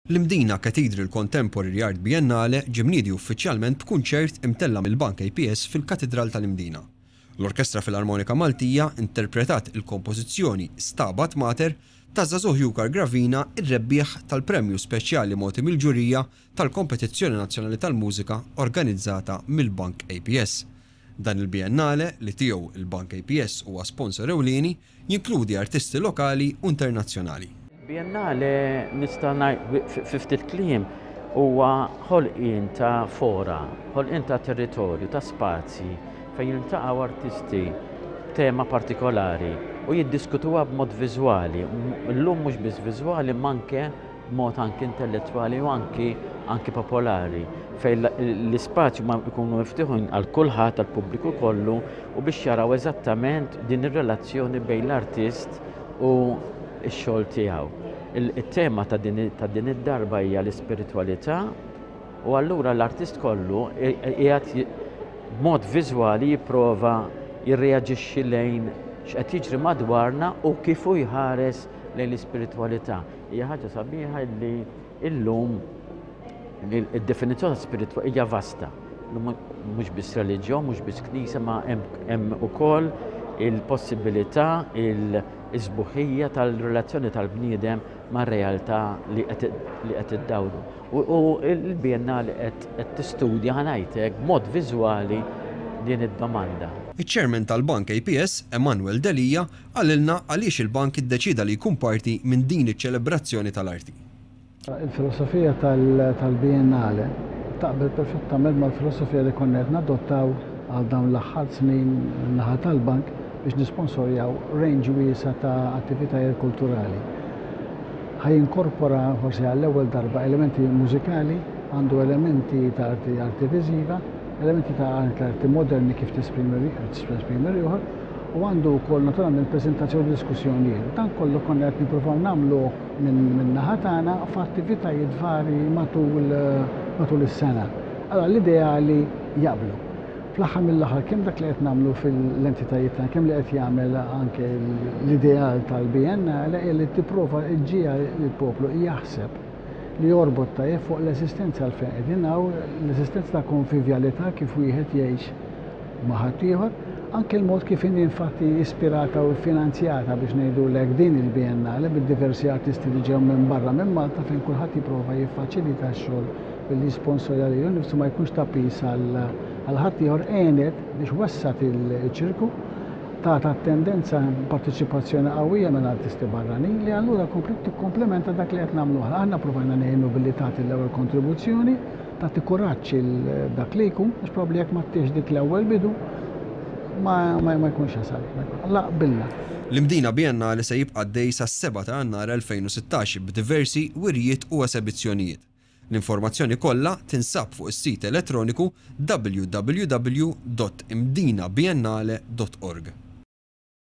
L-Imdina Cathedral Contemporary Art Biennale ġie mniedi uffiċjalment b'kunċert imtella' mill-Bank APS fil-Katidral tal-Imdina. L-Orkestra Filarmonika Maltija interpretat il-kompożizzjoni Stabat Mater taż-żagħżugħ Jukar Gravina r-rebbieħ tal-premju speċjali mogħti mill-ġurija tal-Kompetizzjoni Nazzjonali tal-Mużika organizzata mill-Bank APS. Dan il-Biennale, li tiegħu il-Bank APS huwa sponsor ewlieni, jinkludi artisti lokali u internazzjonali. Biennale, nista' ngħid fi ftit kliem, huwa ħolqien ta' fora, ħolqien ta' territorju, ta' spazji fejn jiltaqgħu artisti b'tema partikolari u jiddiskutuha b'mod viżwali. Illum mhux biss viżwali imma anke b'mod anki intellettwali u anki anki popolari fejn l-ispazju ma jkunu miftuħin għal kulħadd, għall-pubbliku kollu u biex jaraw eżattament din ir-relazzjoni bejn l-artist u x-xogħol tiegħu. Il-tema ta' din ta' din id-darba hija l-ispiritwalità u allura l-artist kollu qiegħed b'mod viżwali jipprova jirreaġixxi lejn x'qed jiġri madwarna u kif hu jħares lejn l-ispiritwalità. Hija ħaġa sabiħa li illum id-definizzjoni ta' spiritwalità hija vasta. Mhux biss reliġjon, mhux biss knisja, ma hemm ukoll il-possibilità, il-sbuħija tal-relazzjoni tal-bniedem mar-realtà li qed iddawru. U l-Biennale qed tistudja, ħa ngħid hekk, b'mod viżwali din id-domanda. Iċ-Chairman tal-Bank APS, Emanuel Delia, qalilna għaliex il-bank iddeċieda li jkun parti minn din iċ-ċelebrazzjoni tal-arti. Il-filosofija tal-Biennale taqbel perfettament mal-filosofija li konna qed nadottaw għal dawn l-aħħar snin min-naħa tal-bank biex nisponsorjaw range wiesgħa ta' attivitajiet kulturali. Ħa jinkorpora forsi għall-ewwel darba elementi mużikali, għandu elementi ta' arti arti viżiva, elementi ta' anke arti moderni kif tesprimi tesprimi ruħha u għandu wkoll naturalment preżentazzjoni u diskussjonijiet. Dan kollu konna qed nippruvaw nagħmluh minn naħa tagħna f'attivitajiet varji matul matul is-sena. Allora l-ideali jaqblu. Fl-aħħar mill-aħħar kemm dak li qed nagħmlu fil-entitajiet tagħna, kemm li qed jagħmel anke l-ideal tal-Biennale hija li tipprova ġġiegħel il-poplu jaħseb li jorbot tajjeb fuq l-eżistenza għalfejn qegħdin hawn, l-eżistenza ta' konvivjalità kif wieħed jgħix ma' ħaddieħor, anke l-mod kif inhi infatti ispirata u finanzjata biex ngħidulek din il-Biennale bid-diversi artisti li ġew minn barra minn Malta fejn kulħadd jipprova jiffaċilita x-xogħol billi jisponsorja lilu nnifsu ma jkunx ta' piż għal ħaddieħor għenet biex wessgħet iċ-ċirku, tat attendenza parteċipazzjoni qawwija minn artisti barranin li allura kompliet tikkomplementa dak li qed nagħmlu aħna. Aħna provajna ngħinu billi tagħti l-ewwel kontribuzzjoni, tagħti kuraġġ il dak li jkun, għax probabbli jekk ma ttihx dik l-ewwel bidu ma ma jkunx jasal. La qbilna. L-Imdina Biennale se jibqa' għaddej sas-7 ta' Jannar 2016 b'diversi wirjiet u esebizzjonijiet. L-informazzjoni kollha tinsab fuq is-sit elettroniku www.imdinabiennale.org.